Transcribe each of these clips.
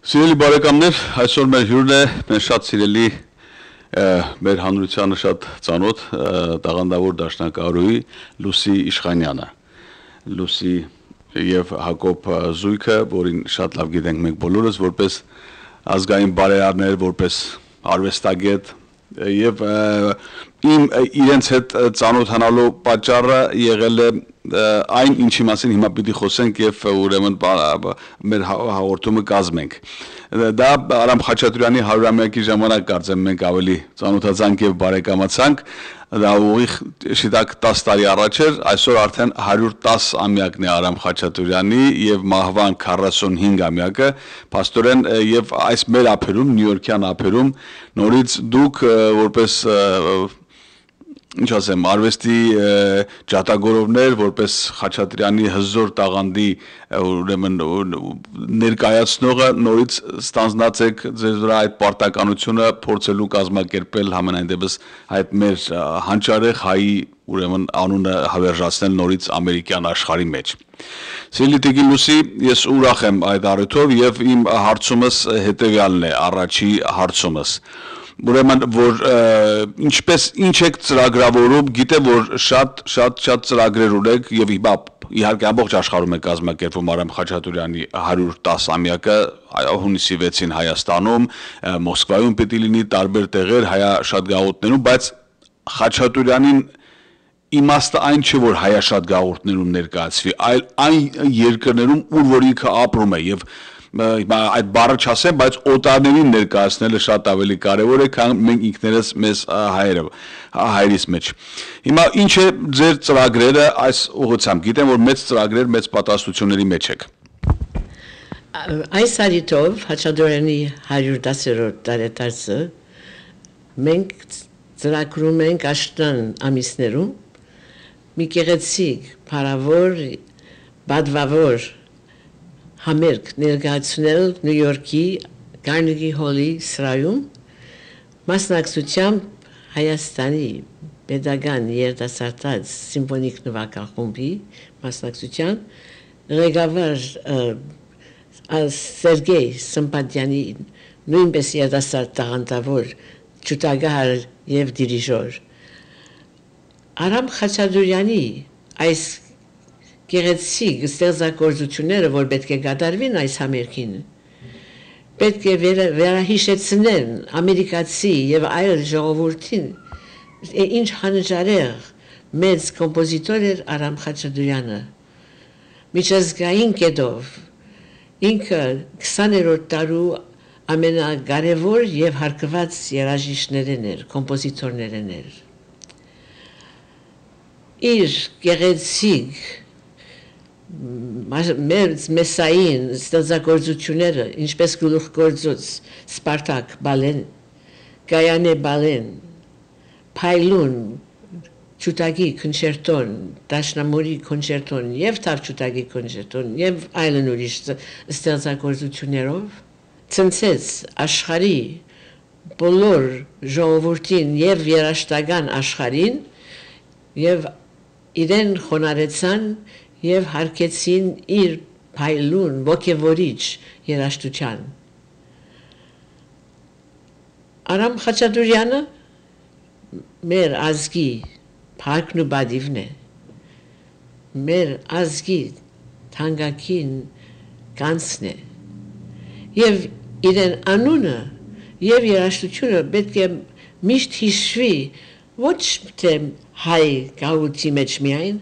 Սիրելի բարեկամներ, այսօր մեր հյուրն է, մեր շատ սիրելի մեր հանրությանը շատ ծանոթ տաղանդավոր դաշնակահարուհի Լուսի Իշխանյանը։ Լուսի եւ Հակոբ զույգը, որին շատ լավ գիտենք մենք բոլորս, որպես ազգային բարերարներ, որպես արվեստագետ եւ իրենց հետ ծանոթանալու պատճառը եղել է այն ինչի մասին հիմա պիտի խոսենք եւ ուրեմն մեր հաղորդումը կազմենք։ Դա Արամ Խաչատուրյանի 100-ամյակի ժամանակ կարծեմ մենք ավելի ծանոթացանք եւ բարեկամացանք, դա ուղիղ շիտակ 10 տարի առաջ էր, այսօր արդեն 110 ամյակն է Արամ Խաչատուրյանի եւ մահվան 45-ամյակը, փաստորեն եւ այս մեր ափերում, նյույորքյան ափերում նորից դուք որպես ինչ ասեմ, արվեստի ջատագորովներ, որպես Խաչատրյանի հզոր տաղանդի ուրեմն ներկայացնողը նորից ստանձնած եք ձեր վրա այդ պարտականությունը փորձելու կազմակերպել համենայն դեպս այդ մեր հանճարեղ հայի ուրեմն անունը հավերժացնել նորից ամերիկյան աշխարհի մեջ։ Սիրելի Տիկին Լուսի, ես ուրախ եմ այդ առիթով եւ իմ հարցումս հետեւյալն է, առաջի հարցումս։ Ուրեմն որ ինչ եք ծրագրավորում, գիտեմ որ շատ ծրագրեր ունեք եւ իհարկե ամբողջ աշխարհում է կազմակերպվում Արամ Խաչատուրյանի 110-ամյակը հունիսի 6-ին Հայաստանում, Մոսկվայում պիտի լինի տարբեր տեղեր հայաշատգաղութներում, բայց Խաչատուրյանին իմաստը այն չէ որ հայաշատգաղութներում ներկայացվի, այլ այն երկրներում ուր որ ինքը ապրում է եւ այդ բառը չասեմ, բայց օտարներին ներկայացնելը շատ ավելի կարևոր է, քան մենք ինքներս մեզ հայրից մեջ։ Հիմա ինչ է ձեր ծրագրերը այս ուղղությամբ։ Գիտեմ, որ մեծ ծրագրեր, մեծ պատասխանատվությունների մեջ եք։ Այս առիթով Խաչատուրյանի 110-րդ տարեդարձը մենք ծրագրում ենք աշտան ամիսներում մի գեղեցիկ, փառավոր, բադվավոր համերգ ներկայացնել Նյու Յորքի Carnegie Hall-ի սրահում մասնակցությամբ Հայաստանի Պետական երիտասարդաց սիմֆոնիկ նվագախումբի մասնակցությամբ ղեկավար Սերգեյ Սմպատյանի նույնպես երիտասարդ տաղանդավոր ջութագահար եւ դիրիժոր Արամ Խաչատուրյանի այս գեղեցիկ ստեղծագործությունները, որ պետք է կատարվին այս համերգին, պետք է վերահիշեցնեն ամերիկացի եւ այլ ժողովրդին, ինչ հանճարեղ մեծ կոմպոզիտոր էր Արամ Խաչատուրյանը։ Միջազգային կետով ինքը 20-րդ դարու ամենակարևոր եւ հարգված երաժիշտներն էր, կոմպոզիտորներն էր։ Իր գեղեցիկ մեսային ստեղծագործությունները, ինչպես գլուխգործոց Սպարտակ բալեն, Գայանե բալեն, Փայլուն ջութակի կոնցերտոն, Դաշնամուրի կոնցերտոն եւ Թավջութակի կոնցերտոն եւ այլն ուրիշ ստեղծագործություններով ցնցեց աշխարհի բոլոր ժողովրդին եւ երաժշտական աշխարհին եւ իրեն խոնարհեցան եւ հարգեցին իր փայլուն ոգևորիչ երաժշտության։ Արամ Խաչատուրյանը մեր ազգի փառքն ու բադիվն է, մեր ազգի թանկագին կանցն է, եւ իրեն անունը եւ երաժշտությունը պետք է միշտ հիշվի ոչ թե հայ գաղութի մեջ միայն,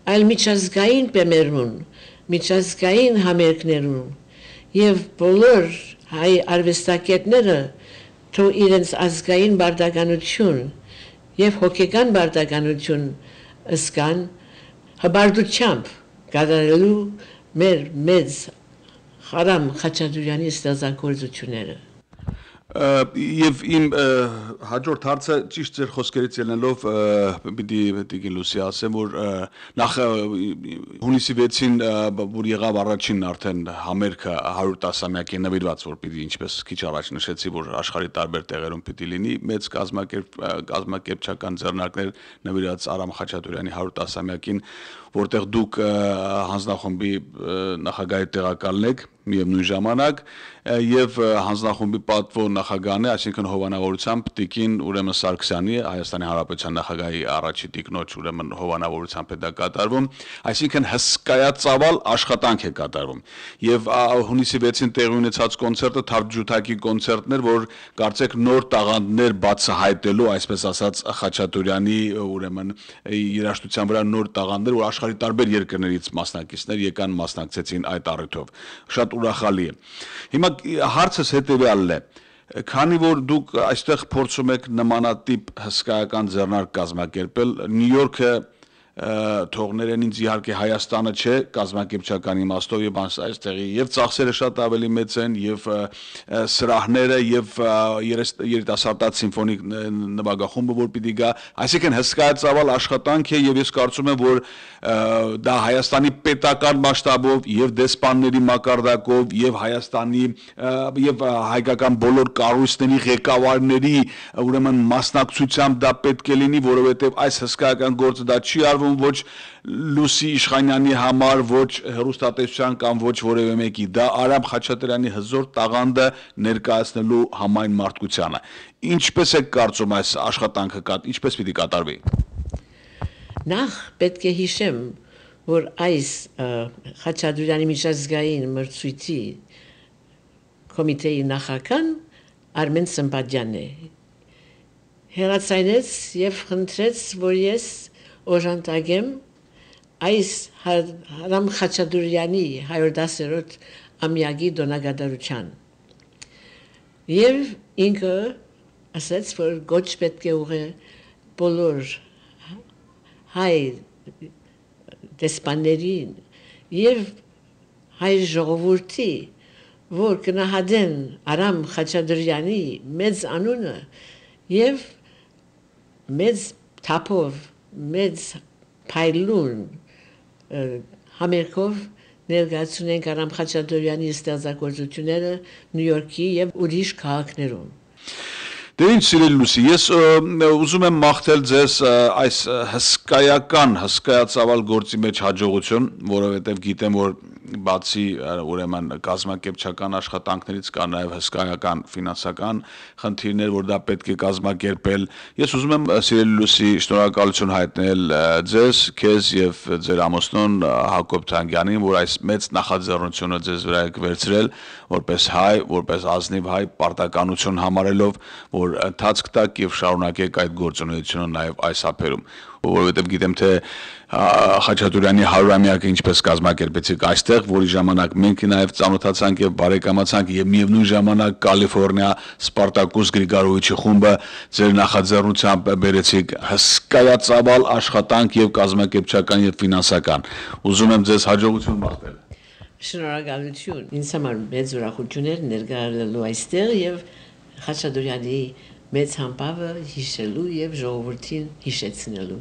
այլ միջազգային բեմերուն, միջազգային համերգներուն եւ բոլոր հայ արվեստագետները թող իրենց ազգային բարդականություն եւ հոգեկան բարդականություն ըսկան հբարդությամբ կատարելու մեր մեծ Արամ Խաչատուրյանի ստեղծագործությունները։ Եվ իմ հաջորդ հարցը ճիշտ ձեր խոսքերից ելնելով պիտի Տիկին Լուսի ասեմ, որ նախ հունիսի 6-ին որ եղավ առաջին արդեն համերգը 110-ամյակի նվիրված, որ պիտի ինչպես քիչ առաջ նշեցի, որ աշխարհի տարբեր տեղերում պիտի լինի, մեծ կազմակերպչական ձեռնարկներ նվիրված Արամ Խաչատուրյանի 110-ամյակին, որտեղ դուք հանձնախմբի նախագահի տեղակալն եք, միևնույն ժամանակ եւ հանձնախումբի պատվո նախագահն է, այսինքն հովանավորությամբ Տիկին ուրեմն Սարգսյանի, Հայաստանի Հանրապետության նախագահի առաջի տիկնոջ ուրեմն հովանավորությամբ է դա կատարվում, այսինքն հսկայածավալ աշխատանք է կատարվում։ Եվ հունիսի 6-ին տեղի ունեցած կոնցերտը Թավջութակի կոնցերտն էր, որ կարծեք նոր տաղանդներ բացահայտելու, այսպես ասած, Խաչատուրյանի ուրեմն երաժշտության վրա նոր տաղանդներ, որ աշխարհի տարբեր երկրներից մասնակիցներ եկան մասնակցեցին այդ առիթով։ Շատ ուրախալի է։ Հիմա հարցս հետևյալն է. քանի որ դուք այստեղ փորձում եք նմանատիպ հսկայական ձեռնարկ կազմակերպել, Նյու Յորքը թողներեն ինձ իհարկե Հայաստանը չէ, կազմակերպչական իմաստով եւ այստեղի եւ ծախսերը շատ ավելի մեծ են եւ սրահները եւ երիտասարդաց սիմֆոնիկ նվագախումբը որ պիտի գա, այսինքն հսկայածավալ աշխատանք է եւ ես կարծում եմ որ դա Հայաստանի պետական մասշտաբով եւ դեսպանների մակարդակով եւ Հայաստանի եւ հայկական բոլոր կառույցների ղեկավարների ուրեմն մասնակցությամբ դա պետք է լինի, որովհետեւ այս հսկայական գործը դա չի արվում ոչ Լուսի Իշխանյանի համար, ոչ հեռուստատեսության կամ ոչ որևէ մեկի, դա Արամ Խաչատրյանի հզոր տաղանդը ներկայացնելու համայն մարդկությանը։ Ինչպես եք կարծում այս աշխատանքը ինչպես պիտի կատարվի։ Նախ պետք է հիշեմ, որ այս Խաչատուրյանի միջազգային մրցույթի կոմիտեի նախագահն Արմեն Սմբատյանն է։ Հերացայնեց եւ խնդրեց, որ ես օժանդակեմ այս Արամ Խաչատուրյանի 110-րդ ամյակի դոնագադարության։ Եվ ինքը ասաց, որ գոչ պետք է ուղղե բոլոր հայ դեսպաններին եւ հայ ժողովրդի, որ կնահատեն Արամ Խաչատուրյանի մեծ անունը եւ մեծ թափով, մեծ փայլուն համերգով ներկայացնենք Արամ Խաչատուրյանի ստեղծագործությունները Նյու Յորքի եւ ուրիշ քաղաքներում։ Դե ինչ սիրելի Լուսի, ես ուզում եմ մաղթել ձեզ այս հսկայածավալ գործի մեջ հաջողություն, որովհետև գիտեմ, որ բացի ուրեմն կազմակերպչական աշխատանքներից կա նաև հսկայական ֆինանսական խնդիրներ, որ դա պետք է կազմակերպել։ Ես ուզում եմ սիրելի Լուսի շնորհակալություն հայտնել ձեզ, քեզ եւ ձեր ամուսնուն Հակոբ Թանգյանին, որ այս մեծ նախաձեռնությունը ձեզ վրա եք վերցրել, որպես հայ, որպես ազնիվ հայ, պարտականություն համարելով, որ ընթացք տակ եւ շարունակեք այդ գործունեությունը նաեւ այս ափերում, որովհետեւ գիտեմ թե Խաչատուրյանի 100-ամյակը ինչպես կազմակերպեցիք այստեղ, որի ժամանակ մենք նաեւ ծանոթացանք եւ բարեկամացանք եւ միևնույն ժամանակ Կալիֆոռնիա Սպարտակուս Գրիգորովիչի խումբը ձեր նախաձեռնությամբ բերեցիք հսկայածավալ աշխատանք եւ կազմակերպչական եւ ֆինանսական։ Ուզում եմ ձեզ հաջողություն մաղթել։ Շնորհակալություն։ Ինձ համար մեծ ուրախություն էր ներկայացնելու այստեղ եւ Խաչատուրյանի մեծ համբավը հիշելու եւ ժողովրդին հիշեցնելու։